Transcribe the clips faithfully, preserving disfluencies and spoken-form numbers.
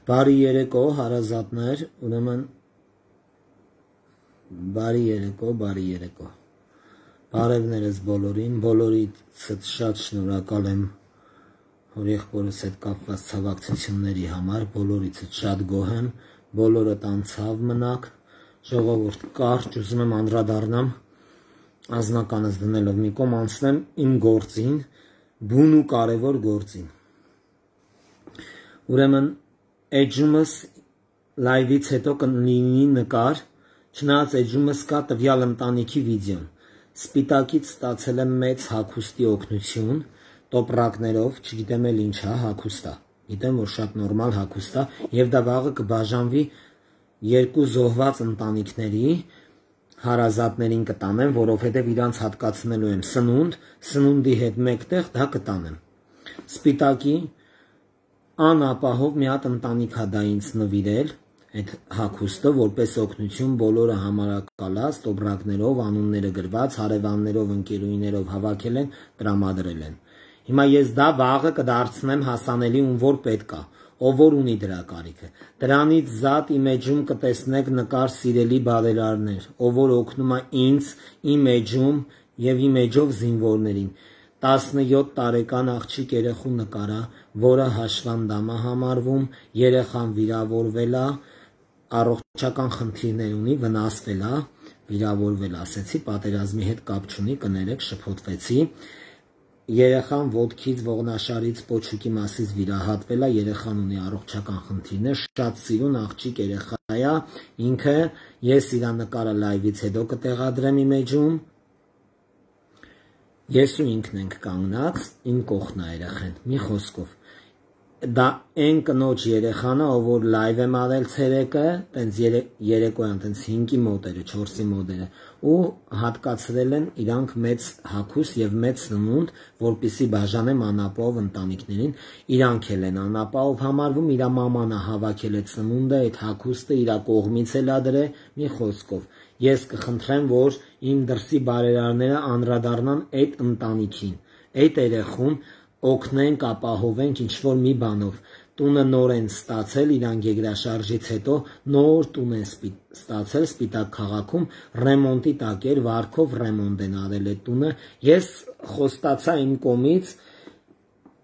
Բարի երեկո, հարազատներ, ուրեմն բարի երեկո, բարի երեկո։ Բարևներս բոլորին, բոլորից շատ շնորհակալ եմ հորեղբորս հետ կապված ցավակցությունների համար, բոլորից շատ գոհ եմ, բոլորդ անցավ մնաք, ժողովուրդ կարճ ուզում եմ անդրադառնամ անձնականս դնելով մի կողմ անցնեմ իմ գործին, բուն ու կարևոր գործին։ Ուրեմն էջումս լայվից հետո կլինի նկար, չնայած էջումս կա տվյալ ընտանիքի վիդեոն։ Սպիտակից ստացել եմ մեծ հագուստի օգնություն, տոպրակներով, չգիտեմ էլ ինչ է, հագուստ է։ Գիտեմ, որ շատ նորմալ հագուստ է, եւ դա վաղը կբաժանվի երկու զոհված ընտանիքների հարազատներին կտանեմ, որովհետեւ իրանց հատկացնելու եմ սնունդ, սնունդի հետ մեկտեղ դա կտանեմ։ Սպիտակի անապահով մի հատ ընտանիք է դա ինձ նվիրել, այդ հագուստը, որպես օգնություն բոլորը համարակալած, տոպրակներով, անունները գրված, հարևաններով, ընկերուհիներով հավաքել են, տրամադրել են։ Հիմա ես դա վաղը կդարձնեմ հասանելի ում որ պետք է, ով որ ունի դրա կարիքը։ Դրանից զատ իմ էջում կտեսնեք նկար սիրելի բարերարներ, ով որ օգնում է ինձ, իմ էջում եւ իմ էջով զինվորներին։ տասնյոթ տարեկան աղջիկ երեխու նկարա, որը հաշվանդամ է համարվում, երեխան վիրավորվել է, առողջական խնդիրներ ունի, վնասվել է, վիրավորվել ասեցի, պատերազմի հետ կապ չունի, կներեք, շփոթվեցի։ Երեխան ոտքից, ողնաշարից, պոչուկի մասից վիրահատվել է, երեխան ունի առողջական խնդիրներ, շատ սիրուն աղջիկ երեխա է, ինքը ես իր նկարը լայվից հետո կտեղադրեմ իմ էջում։ Ես ու ինքն ենք կանգնած, իմ կողքն է երեխան, մի խոսքով։ Դա այն կնոջ երեխան է, ով որ լայվ եմ արել ցերեկը, տենց երեկոյան, տենց հինգի մոտերը, չորսի մոտերը, ու հատկացրել են իրանք մեծ հագուստ եւ մեծ սնունդ, որպեսզի բաժանեմ անապահով ընտանիքներին, իրանք էլ են անապահով համարվում, իր մաման է հավաքել այդ սնունդը, այդ հագուստը իր կողմից էլ ադրե, մի խոսքով։ Ես կխնդրեմ, որ իմ դրսի բարերարները անդրադառնան այդ ընտանիքին, այդ երեխուն օգնենք, ապահովենք ինչ-որ մի բանով։ Տունը նոր են ստացել, իրանք եգրաշարժից հետո նոր տուն են ստացել Սպիտակ քաղաքում, ռեմոնտի տակ էր, վարկով ռեմոնտ են արել այդ տունը։ Ես խոստացա իմ կողմից,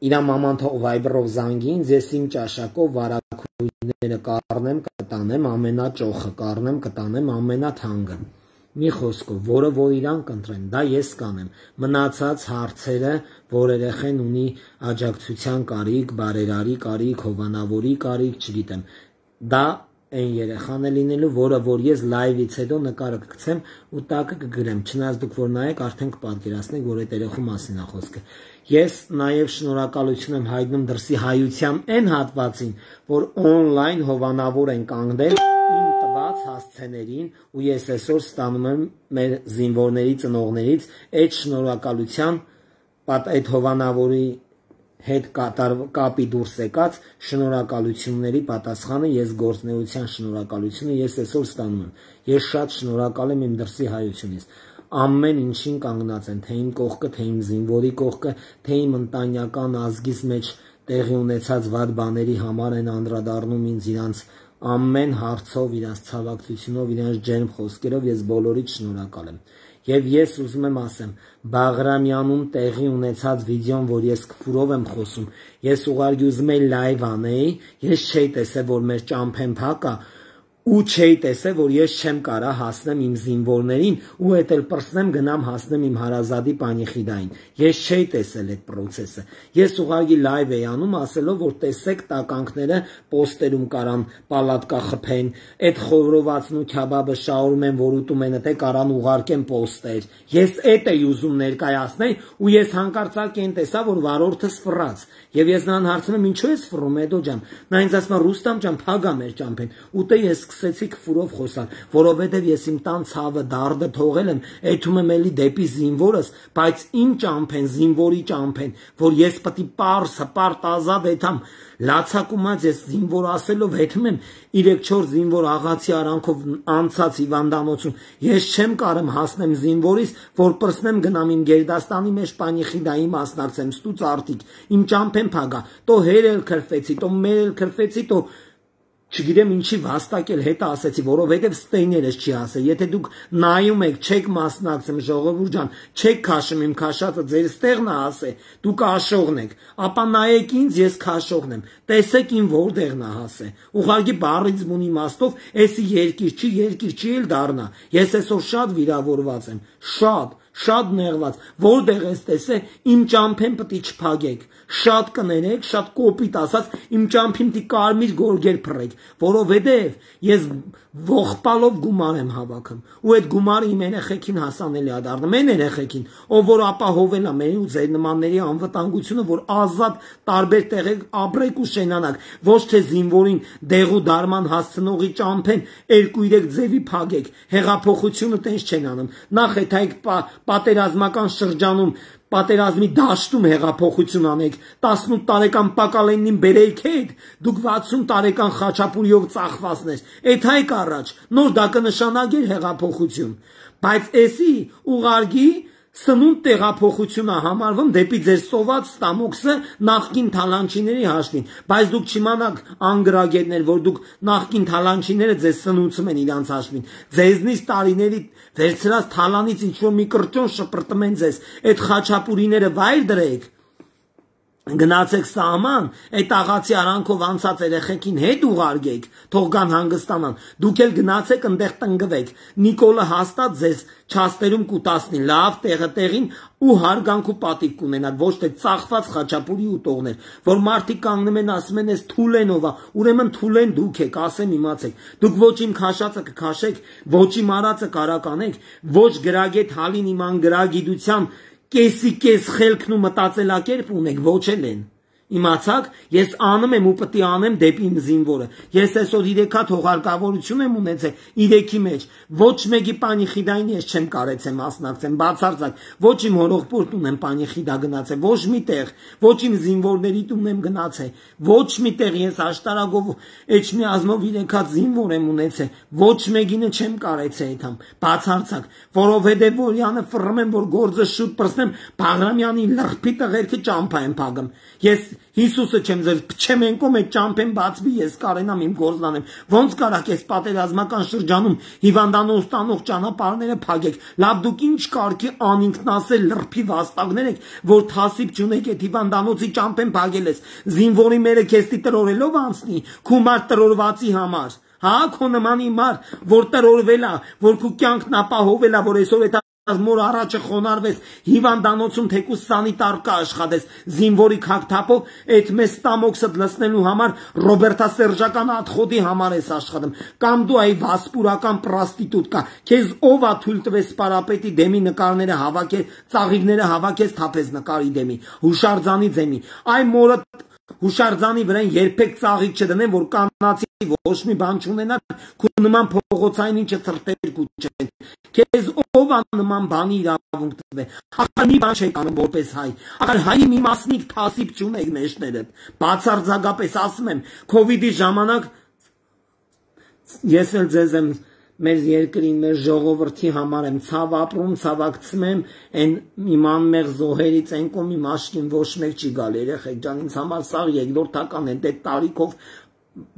իր մաման թող վայբրով զանգի ինձ, ես իմ ճաշակով վարակույրները կառնեմ, կտանեմ, ամենաճոխը կառնեմ, կտանեմ, ամենաթանկը։ Մի խոսքով, որը որ իրան կընտրեն, դա ես կանեմ, մնացած հարցերը, որ երեխեն ունի աջակցության կարիք, բարերարի կարիք, հովանավորի կարիք, չգիտեմ, դա այն երեխան է լինելու, որը որ ես լայվից հետո նկարը կգցեմ ու տակը կգրեմ, չնայած դուք որ նայեք, արդեն կպատկերացնեք, որ այդ երեխու մասին է խոսքը։ Ես նաև շնորհակալություն եմ հայտնում դրսի հայության այն հատվածին, որ on-line հովանավոր են կանգնել իմ տված հասցեներին ու ես այսօր ստանում եմ մեր զինվորների ծնողներից այդ շնորհակալության, այդ հովանավորի հետ կապի դուրս եկած շնորհակալությունների պատասխանը, ես գործնեության շնորհակալությունը ես այսօր ստանում եմ։ Ես շատ շնորհակալ եմ իմ դրսի հայությունից։ Ամեն ինչին կանգնած են, թե իմ կողքը, թե իմ զինվորի կողքը, թե իմ ընտանեկան ազգիս մեջ տեղի ունեցած վատ բաների համար են անդրադառնում ինձ իրանց ամեն հարցով, իրանց ցավակցությունով, իրանց ջերմ խոսքերով ես բոլորից շնորհակալ եմ։ Եվ ես ուզում եմ ասեմ, Բաղրամյանում տեղի ունեցած վիդեոն, որ ես քֆուրով եմ խոսում, ես ուղղակի ուզում եի լայվ անեի, ես չէի տեսել, որ մեր ճամփեն փակ է, ու չէի տեսել, որ ես չեմ կարա հասնեմ իմ զինվորներին ու էդ էլ պրսնեմ գնամ հասնեմ իմ հարազատի պանիխիդային։ Ես չէի տեսել այդ process-ը։ Ես ուղղակի լայվ էի անում, ասելով, որ տեսեք տականքները պոստերում կարան պալատկա խփեն, այդ խորովածն ու քյաբաբը շաուրում են, որ ուտում են, թե կարան ուղարկեն պոստեր։ Ես էդ էի ուզում ներկայացնել ու ես հանկարծակի են տեսա, որ վարորդը սփռած։ Եվ ես նրան հարցնում եմ, ինչու ես սփռում, Էդո ջան։ Նա ինձ ասում է, Ռուստամ ջան, փագա մեր ճամփեն։ Ուտե ես սկսեցի քֆուրով խոսալ, որովհետև ես իմ տան ցավը դարդը թողել եմ, այդում եմ էլի դեպի զինվորս, բայց իմ ճամփեն, զինվորի ճամփեն, որ ես պետք է պարս, հպարտ ազատ եթամ, լացակումած ես զինվոր ասելով հետում եմ երեք չորս զինվոր աղացի արանքով անցած հիվանդանոցում, ես չեմ կարեմ հասնեմ զինվորից, որ պրսնեմ գնամ իմ Գերդաստանի մեջ պանիխիդայի մասնակցեմ, ստուց արտիկ, իմ ճամփեն փագա, տո հերել քրֆեցի, տո մերել քրֆեցի, տո չգիտեմ ինչի վաստակել հետը ասեցի, որովհետև ստեյներս չի ասել, եթե դուք նայում եք, չեք մասնակցում ժողովուրդ ջան, չեք քաշում իմ քաշածը, ձեր ստեղն է ասե, դուք աշողն եք, ապա նայեք ինձ, ես քաշողն եմ, տեսեք ին որտեղն է հասե, ուղղակի բառից բուն իմաստով, էսի երկիր չի, երկիր չի էլ դառնա, ես այսօր շատ վիրավորված եմ, շատ Շատ նեղված, որտեղ ես տեսե, իմ ճամփեն պիտի չփագեք, շատ կներեք, շատ կոպիտ ասած, իմ ճամփին պիտի կարմիր գորգեր փռեք, որովհետև ես ողբալով գումար եմ հավաքում, ու այդ գումարը իմ երեխեքին հասանելի է դառնում, այն երեխեքին, ով որ ապահովել է մեր ու ձեր նմանների անվտանգությունը, որ ազատ տարբեր տեղեր ապրեք ու շենանաք, ոչ թե զինվորին դեղու դարման հասցնողի ճամփեն երկու երեք ձևի փագեք, հեղափոխությունը տենց չեն անում, նախ այդ այդ պատերազմական շրջանում պատերազմի դաշտում հեղափոխություն անեք, տասնութ տարեկան Պակալենին բերեիք հետ, դուք վաթսուն տարեկան Խաչապուրիով ծախվածներ, այդ հայք առաջ, նոր դա կնշանակեր հեղափոխություն, բայց էսի ուղարկի սնունդ տեղափոխությունը համարվում դեպի ձեր սոված ստամոքսը նախկին թալանչիների հաշվին, բայց դուք չիմանաք անգրագետներ, որ դուք նախկին թալանչիները ձեզ սնուցում են իրանց հաշվին, ձեզնից տարիների վերցրած թալանից ինչ-որ մի կրճոն շպրտում են ձեզ, այդ խաչապուրիները վայր դրեք, գնացեք սահման, այդ աղացի արանքով անցած երեխեքին հետ ուղարկեք, թող գան հանգստանան, դուք էլ գնացեք ընդեղ տնգվեք, Նիկոլը հաստատ ձեզ չաստերում կուտասնի, լավ տեղը տեղին ու հարգանք ու պատիվ կունենաք, ոչ թե ծախված խաչապուրի ուտողներ, որ մարդիկ կանգնում են ասում են, ես Թուլենով է, ուրեմն Թուլեն դուք եք, ասեմ իմացեք, դուք ոչ իմ քաշածը կքաշեք, ոչ իմ արածը կարականեք, ոչ գրագետ հալին իմ անգրագիտության կեսի կես խելքն ու մտածելակերպ ունեք, ոչ էլ են, իմացաք, ես անում եմ ու պտի անեմ դեպի իմ զինվորը, ես այսօր իրեքա թողարկավորություն եմ ունեցել, իրեքի մեջ, ոչ մեկի պանիխիդային ես չեմ կարեցեմ մասնակցեմ, բացարձակ, ոչ իմ հորողպորտ ունեմ պանիխիդա գնացել, ոչ մի տեղ, ոչ իմ զինվորների տուն եմ գնացել, ոչ մի տեղ ես աշտարակով էջմիազմով իրեքած զինվոր եմ ունեցել, ոչ մեկինը չեմ կարեցել այդամ, բացարձակ, որովհետև որյանը ֆռում եմ, որ գործը շուտ պրսնեմ, Բաղրամյանի լրփի տղերքը ճամփա եմ փագում, ես Հիսուսը չեմ ձեր փչեմ ենկոմ այդ ճամփեն բացվի ես կարենամ իմ գործնանեմ ոնց կարաք ես պատերազմական շրջանում հիվանդանոց տանող ճանապարհները փագեք լավ դուք ինչ կարգի անինքնասել լրփի վաստակներ եք որ թասիբ չունեք այդ հիվանդանոցի ճամփեն փագել ես զինվորի մերը քեստի տրորելով անցնի քումար տրորվածի համար հա քո նմանի մար որ տրորվել է որ քո կյանքն ապահովել է որ այսօր այդ Մոր առաջը խոնարհվես հիվանդանոցում թեկուս սանիտար կա աշխատես զինվորի քակթափով այդ մեծ ստամոքսը լցնելու համար ռոբերտասերժական աթխոդի համար ես աշխատում կամ դու այ վասպուրական պրոստիտուտ կա քեզ ով ա թույլ տվես պարապետի դեմի նկարները հավաքել ծաղիկները հավաքես թափես նկարի դեմի հուշարձանի դեմի այ մորը Հուշարձանի վրան երբեք ծաղիկ չդնեն, որ կանացի ոչ մի բան չունենա, քո նման փողոցային ինչը ծրտեր կուչեն։ Քեզ ով ա նման բանի իրավունք տվե։ Ախր մի բան չեք անում որպես հայ։ Ախր հայի մի մասնիկ թասիբ չունեք մեջները։ Բացարձակապես ասում եմ, Քովիդի ժամանակ ես էլ ձեզ եմ մեր երկրին, մեր ժողովրդի համար եմ ցավ ապրում, ցավակցում եմ, այն իմ անմեղ զոհերից են կոմ իմ աշկին ոչ մեկ չի գալ երեխեք ջան, ինձ համար սա երկրորդական է, դե տարիքով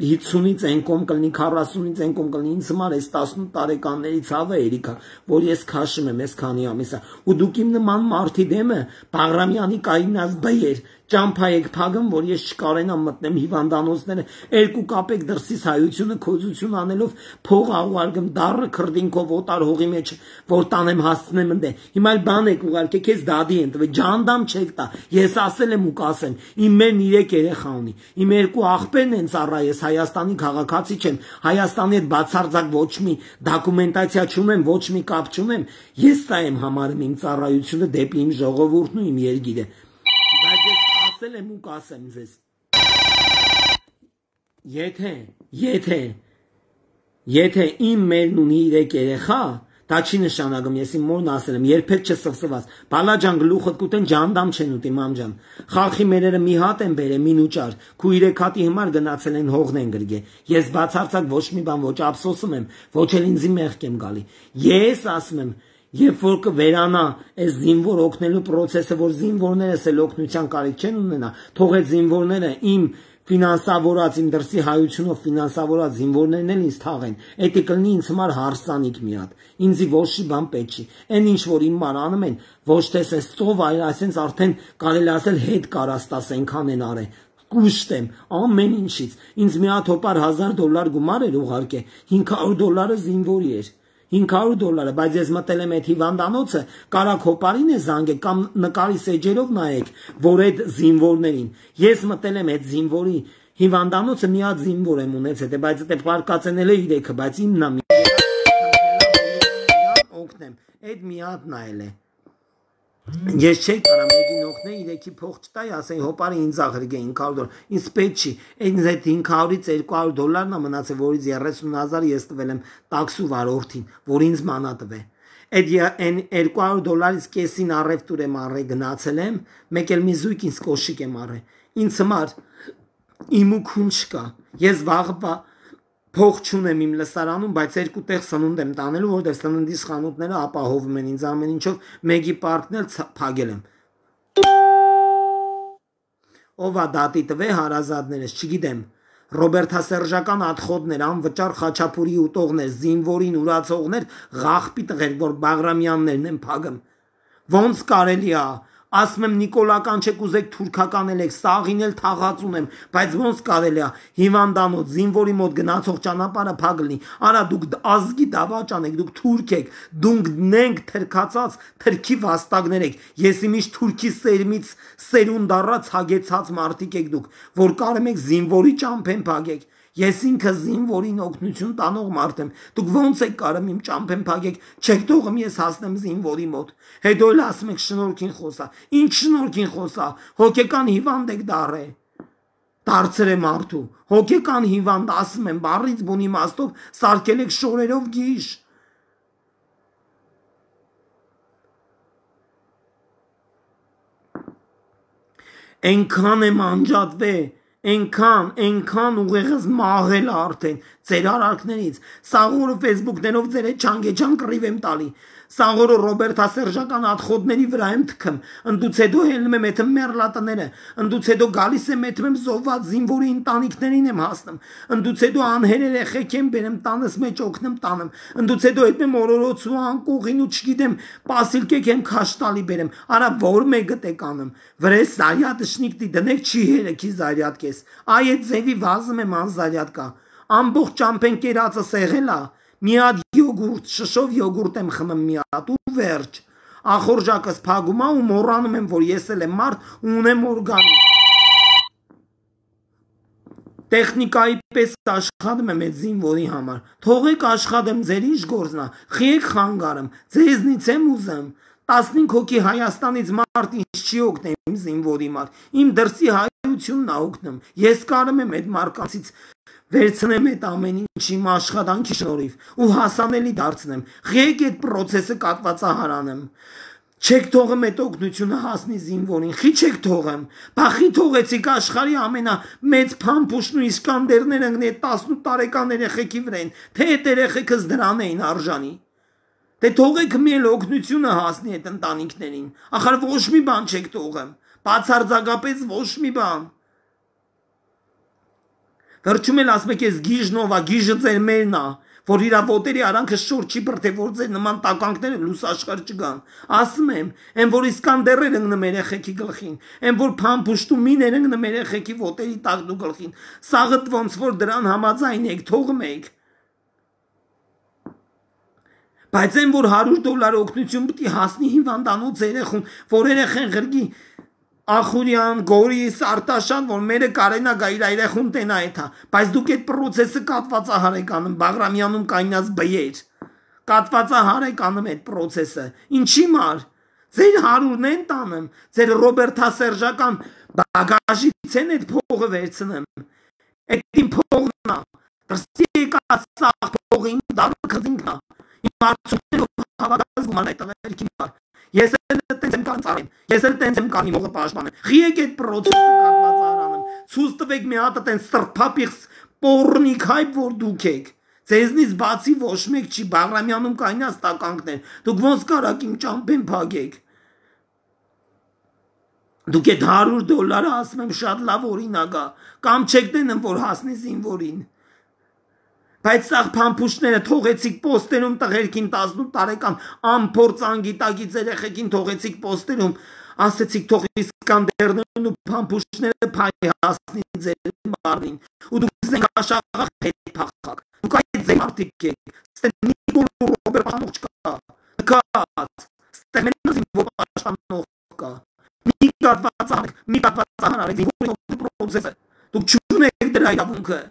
հիսունից են կոմ կլինի, քառասունից են կոմ կլինի, ինձ համար այս տասնութ տարեկանների ցավը երիքա, որ ես քաշում եմ այս քանի ամիսա, ու դուք իմ նման մարդի դեմը Բաղրամյանի կայնած բեր ճամփա եք փագում, որ ես չկարենամ մտնեմ հիվանդանոցները, երկու կապեք դրսից հայությունը քոզություն անելով փող աղուարգում դառը քրդինքով օտար հողի մեջ, որ տանեմ հասցնեմ ընդ։ Հիմա էլ բան եք ուղարկե քեզ դադի են տվել, ջանդամ չեք տա։ Ես ասել եմ ու կասեմ, իմ մեն երեք երեխա ունի։ Իմ երկու աղբերն են ծառա, ես Հայաստանի քաղաքացի չեմ, Հայաստանի հետ բացարձակ ոչ մի դոկումենտացիա չունեմ, ոչ մի կապ չունեմ։ Ես սա եմ համարում իմ ծառայությունը դեպի իմ ժողովուրդն ու իմ երկիրը։ Բայց ես ասել եմ ու կասեմ ձեզ եթե եթե եթե իմ մերն ունի երեք երեխա դա չի նշանակում ես իմ մորն ասել եմ երբեք չսվսված բալաջան գլուխդ կուտեն ջանդամ չեն ուտի մամջան խալխի մերերը մի հատ են բերել մինուճար քու երեք հատի հիմար գնացել են հողն են գրգե ես բացարձակ ոչ մի բան ոչ ափսոսում եմ ոչ էլ ինձի մեղք եմ գալի ես ասում եմ Երբ որ կվերանա այս զինվոր օգնելու process-ը, որ զինվորներս էլ օգնության կարիք չեն ունենա, թող այդ զինվորները իմ Ֆինանսավորած իմ դրսի հայությունով ֆինանսավորած զինվորներն էլ ինձ թաղեն, էդի կլինի ինձ համար հարսանիք մի հատ, ինձի ոչ մի բան պետք չի, այն ինչ որ իմ ման անում են, ոչ թե սես ծով, այլ այսենց արդեն կարելի ասել հետ կարաստաս այնքան են արել, կուշտեմ, ամեն ինչից, ինձ մի հատ հոպար հազար դոլար գումար էր ուղարկե, հինգ հարյուր դոլարը զինվորի էր, հինգ հարյուր դոլարը, բայց ես մտել եմ այդ հիվանդանոցը, կարակ հոպարին է զանգել կամ նկարի սեջերով նայեք, որ այդ զինվորներին, ես մտել եմ այդ զինվորի հիվանդանոցը մի հատ զինվոր եմ ունեցել, բայց դա պարկածենել է իրեքը, բայց իմն է օգնեմ, այդ մի հատ նայել է։ Ես չէի կարամ եկին օգնել, իրեքի փող չտայի, ասեի հոպարը ինձ աղրգե հինգ հարյուր դոլար, ինձ պետք չի, այդ այդ հինգ հարյուրից երկու հարյուր դոլարն է մնացել, որից երեսուն հազար ես տվել եմ տաքսու վարորդին, որ ինձ մանա տվե։ Այդ երկու հարյուր դոլարից կեսին առևտուր եմ առել, գնացել եմ, մեկ էլ մի զույգ ինձ կոշիկ եմ առել, ինձ համար իմ ու քուն չկա, ես վաղը փող չունեմ իմ լսարանում, բայց երկու տեղ սնունդ եմ տանելու, որտեղ սննդիս խանութները ապահովում են ինձ ամեն ինչով, մեկի պարկն էլ փակել եմ։ Ով է դատի տվե հարազատներս, չգիտեմ, ռոբերտասերժական ատխոդներ, անվճար խաչապուրի ուտողներ, զինվորին ուրացողներ, ղախպի տղեր, որ Բաղրամյաններն են փագում։ Ոնց կարելի է ասում եմ նիկոլական չեք ուզեք թուրքական եք, սաղին էլ թաղած ունեմ, բայց ոնց կարելի է հիվանդանոց, զինվորի մոտ գնացող ճանապարհը փակ լինի, արա դուք ազգի դավաճան եք, դուք թուրք եք, դուք նենք թրքացած թրքի վաստակներ եք, ես իմիշտ թուրքի սերմից սերունդ առած հագեցած մարդիկ եք դուք, որ կարում եք զինվորի ճամփեն փագեք, ես ինքը զինվորին օգնություն տանող մարդ եմ, դուք ոնց եք կարում իմ ճամփեն փագեք, չեք թողում ես հասնեմ զինվորի մոտ, հետո էլ ասում եք շնորհքին խոսա, ինչ շնորհքին խոսա, հոգեկան հիվանդ եք դառե, դարձել է մարդու, հոգեկան հիվանդ ասում եմ, բառից բուն իմաստով սարքել եք շորերով գիժ, այնքան եմ անջատվել, Այնքան, այնքան ուղեղս մաղել արդեն ձեր արարքներից, սաղորը ֆեյսբուքներով ձեր հետ չանգեջան կռիվ եմ տալի, սաղորը ռոբերտասերժական ատխոդների վրա եմ թքում, ընդուց հետո հելնում եմ էթմ մերլատները, ընդուց հետո գալիս եմ էթմ եմ զոհված զինվորի ընտանիքներին եմ հասնում, ընդուց հետո անհեր երեխեք եմ բերեմ տանս մեջ օգնում տանում, ընդուց հետո հետ եմ օրորոցու անկողին ու չգիտեմ պասիլկեք եմ քաշտալի բերեմ, արա որ մեկը տեք անում, վրես զարյատշնիկտի դնեք չի հերեքի զարյատկես, այ այդ ձևի վազում եմ անզարյատկա, ամբողջ ճամփեն կերածը սեղելա, մի հատ յոգուրտ, շշով յոգուրտ եմ խմում մի հատ ու վերջ, ախորժակս փագում ա ու մոռանում եմ, որ ես էլ եմ մարդ ու ունեմ օրգանիզմ, տեխնիկայի պես աշխատում եմ այդ զինվորի համար, թողեք աշխատեմ ձեր ինչ գործն ա, խիեք խանգարում, ձեզնից եմ ուզում, տասնհինգ հոգի Հայաստանից մարդ ինչ չի օգնեմ իմ զինվորի մարդ, իմ դրսի հայությունն ա օգնում, ես կարում եմ այդ մարկանցից վերցնեմ այդ ամեն ինչ իմ աշխատանքի շնորհիվ ու հասանելի դարձնեմ, խիեք այդ պրոցեսը կատվածահարանեմ, չեք թողում այդ օգնությունը հասնի զինվորին, խի չեք թողում, բախի թողեցիք աշխարհի ամենամեծ փամփուշտն ու իսկանդերները ընկնի այդ տասնութ տարեկան երեխեքի վրան, թե այդ երեխեքս դրան էին արժանի, դե թողեք մի էլ օգնությունը հասնի այդ ընտանիքներին, ախր ոչ մի բան չեք թողում, բացարձակապես ոչ մի բան, վերջում էլ ասում եք ես գիժնով ա, գիժը ձեր մերն ա, որ իրա ոտերի արանքը շոր չի բրթե, որ ձեր նման տականքները լույս աշխարհ չգան, ասում եմ, են որ իսկանդերներ ընկնում երեխեքի գլխին, են որ փամփուշտու միներ ընկնում երեխեքի ոտերի տակ դու գլխին, սաղդ ոնց որ դրան համաձայն եք, թողում եք, բայց են որ հարյուր դոլար օգնություն պիտի հասնի հիվանդանոց երեխուն, որ երեխեն ղրգի Ախուրյան, Գորիս, Արտաշան, որ մերը կարենա գա իր երեխուն տենա էթա, բայց դուք այդ պրոցեսը կատվածահար եք անում, Բաղրամյանում կայնած բյեր, կատվածահար եք անում այդ պրոցեսը, ինչի մար, ձեր հարուրն են տանում, ձեր ռոբերտասերժական բագաժից են այդ փողը վերցնեմ, այդ իմ փողն ա, դրսի եկած սաղ փողին դարը կզինքն ա, իմ արդյունքներով հավակած գուման այդ տղերքի մար, ես էլ տենց եմ կանցարեմ, ես էլ տենց եմ կանի մողը պաշտպանեմ, խիեք այդ պրոցեսը կատվածահարանեմ, ցույց տվեք մի հատ տենց սրբապիղծ պոռնիկ հայբ, որ դուք եք, ձեզնից բացի ոչ մեկ չի, Բաղրամյանում կայնած տականքներ, դուք ոնց կարաք իմ ճամփեն փագեք, Դուք այդ հարյուր դոլարը ասում եմ շատ լավ օրինակ է, կամ չեք դնում, որ հասնի զինվորին։ Բայց սաղ փամփուշտները թողեցիք պոստերում տղերքին տասնութ տարեկան անփորձ անգիտակից երեխեքին թողեցիք պոստերում, ասեցիք թող Իսկանդերներն ու փամփուշտները փայ հասնի ձեր մարմին, ու դուք զենքաշաղախ հետ փախակ։ Դուք այդ ձեր մարդիկ եք, ստե Նիկոլ Ռոբերտ Պաշտանող չկա, նկած, ստե մենակ զինվոր Պաշտանող կա, մի կատված արեք, մի կատված արեք, զինվորի պրոցեսը, դուք չունեք դրա իրավունքը։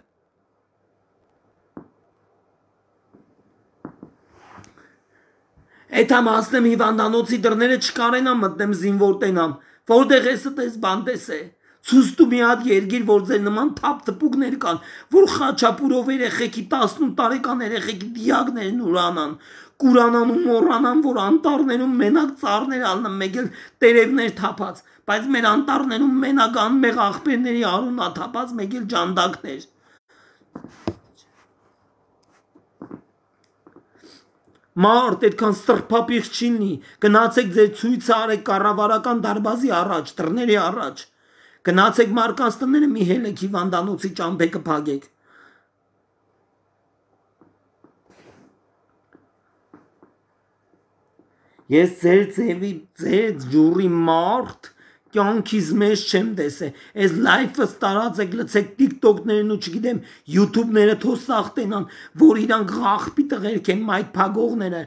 Այդ համ ասնեմ հիվանդանոցի դռները չկարենամ մտնեմ զինվոր տենամ, որտեղ ես տես բանտես է, ցուստու մի հատ երգիր, որ ձեր նման թափ թպուկներ կան, որ Խաչապուրով երեխեքի տասնութ տարեկան երեխեքի դիակներն ուրանան, կուրանան ու մոռանան, որ անտառներում մենակ ծառներ ալնեմ, մեկ էլ տերևներ թափած, բայց մեր անտառներում մենակ անմեղ աղբերների արունա թափած, մեկ էլ ջանդակներ։ Մարդ այդքան սրբապիղ չի լինի, գնացեք ձեր ցույցը արեք կառավարական դարբազի առաջ, դռների առաջ, գնացեք մարդկանց տները մի հելեք հիվանդանոցի ճամփեքը փակեք։ Ես ձեր ձևի, ձեր ջուրի մարդ կյանքիզ մեջ չեմ տեսե, այս լայֆս տարածեք, լցեք տիկտոկներն ու չգիտեմ յութուբները թոսախ տենան, որ իրանք աղբի տղերք են, մայթ փագողները,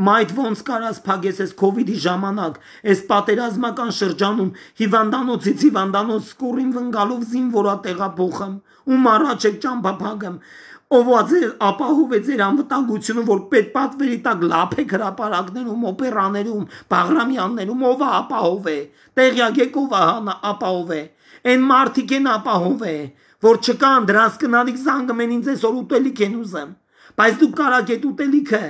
մայթ ոնց կարաս փագես այս քովիդի ժամանակ, այս պատերազմական շրջանում հիվանդանոցից հիվանդանոց սկուրին վնգալով զինվորա տեղափոխեմ, ում առաջ եք ճամփա փագեմ, ով ձեր ապահով է ձեր անվտանգությունը, որ պետպատվերի տակ լափեք հրապարակներում, օպերաներում, Բաղրամյաններում, ով ապահով է, տեղյակ եք ով ապահով է, այն մարդիկ են ապահով է, որ չկան, դրանց կնալիք զանգում են ինձ այսօր ուտելիք են ուզեմ, բայց դուք կարաք այդ ուտելիքը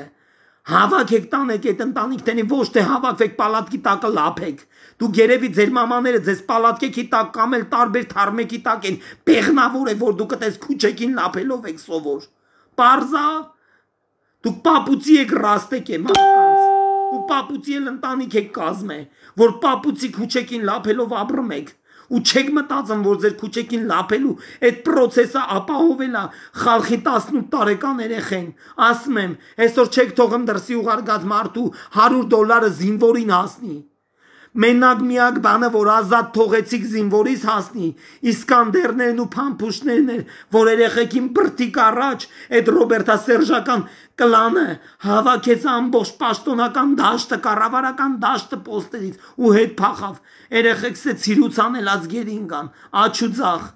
հավաքեք տանեք այդ ընտանիքներին, ոչ թե հավաքվեք պալատքի տակը լափեք, դուք երևի ձեր մամաները ձեզ պալատքի տակ կամ էլ տարբեր թարմեկի տակ են, բեղնավոր է, որ դուք այդպես քուչեկին լափելով եք սովոր, պարզա, դուք պապուծի եք ռաստեք է մարդկանց, ու պապուծի էլ ընտանիք եք կազմե, որ պապուծի քուչեկին լափելով ապրում եք, ու չեք մտածում, որ ձեր քուչեկին լափելու այդ պրոցեսը ապահովելա խալխի տասնութ տարեկան երեխեն, ասում եմ, այսօր չեք թողում դրսի ուղարկած մարդու հարյուր դոլարը զինվորին հասնի, մենակ միակ բանը, որ ազատ թողեցիք զինվորից հասնի, Իսկանդերներն ու փամփուշտներն էր, որ երեխեքին բրտիկ առաջ այդ Ռոբերտասերժական կլանը հավաքեց ամբողջ պաշտոնական դաշտը, կառավարական դաշտը պոստերից ու հետ փախավ, երեխեքս է ցիրուց անելած գերին կան, աչու ձախ,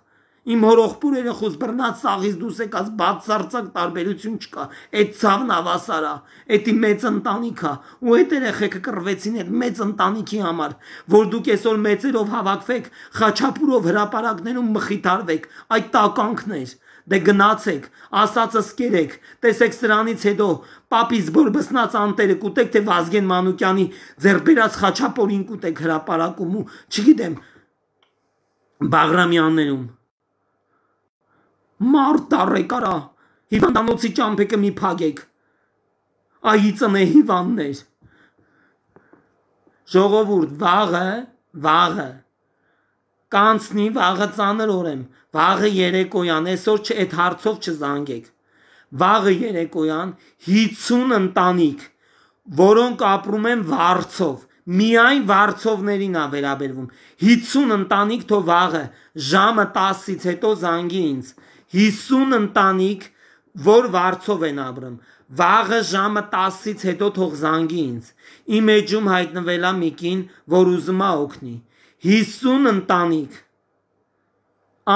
իմ հորողբուր երեխուս բռնած սաղից դուս եկած բացարձակ տարբերություն չկա, այդ ցավն ավասարա, էդի մեծ ընտանիքա, ու այդ երեխեքը կռվեցին այդ մեծ ընտանիքի համար, որ դուք այսօր մեծերով հավաքվեք, Խաչապուրով հրապարակներում մխիթարվեք, այդ տականքն էր, դե գնացեք, ասածս կերեք, տեսեք սրանից հետո պապից բորբսնած անտերը կուտեք, թե Վազգեն Մանուկյանի ձեռբերած Խաչապուրին կուտեք հրապարակում ու չգիտեմ Բաղրամյաններում Մարդ տարեք արա, հիվանդանոցի ճամփեքը մի փագեք, այի ծնե հիվանդներ, ժողովուրդ, վաղը, վաղը, կանցնի վաղը ծանր օրեմ, վաղը երեկոյան, այսօր այդ հարցով չզանգեք, վաղը երեկոյան հիսուն ընտանիք, որոնք ապրում են վարձով, միայն վարձովներին ա վերաբերվում, հիսուն ընտանիք թո վաղը, ժամը տասից հետո զանգի ինձ, հիսուն ընտանիք, որ վարձով են ապրում, վաղը ժամը տասից հետո թող զանգի ինձ, իմ էջում հայտնվելա մի կին, որ ուզում ա օգնի, հիսուն ընտանիք,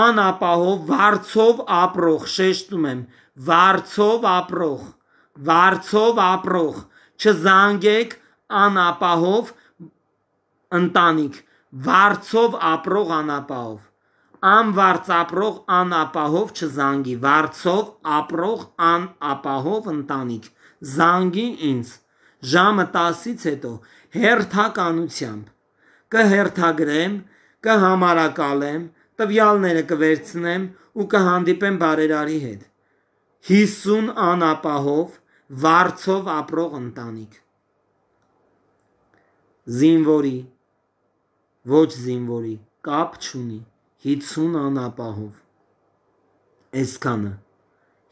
անապահով, վարձով ապրող, շեշտում եմ, վարձով ապրող, վարձով ապրող, չզանգեք անապահով ընտանիք, վարձով ապրող անապահով, անվարձ ապրող անապահով չզանգի, վարձով ապրող անապահով ընտանիք, զանգի ինձ, ժամը տասից հետո, հերթականությամբ, կհերթագրեմ, կհամարակալեմ, տվյալները կվերցնեմ ու կհանդիպեմ բարերարի հետ, հիսուն անապահով, վարձով ապրող ընտանիք, զինվորի, ոչ զինվորի, կապ չունի, հիցուն անապահով, այսքանը,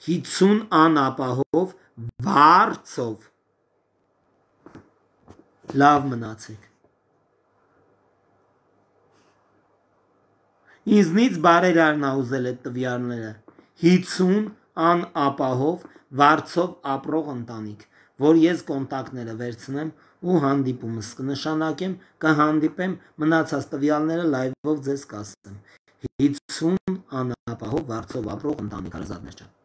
հիցուն անապահով, վարձով, լավ մնացեք, ինձնից բարերարն ուզել այդ տվյալները, հիցուն անապահով, վարձով ապրող ընտանիք, որ ես կոնտակտները վերցնեմ ու հանդիպումս կնշանակեմ, կհանդիպեմ, մնացած տվյալները լայվով ձեզ կասեմ, հիցուն անապահով, վարձով ապրող ընտանիք, հարազատներ ջան։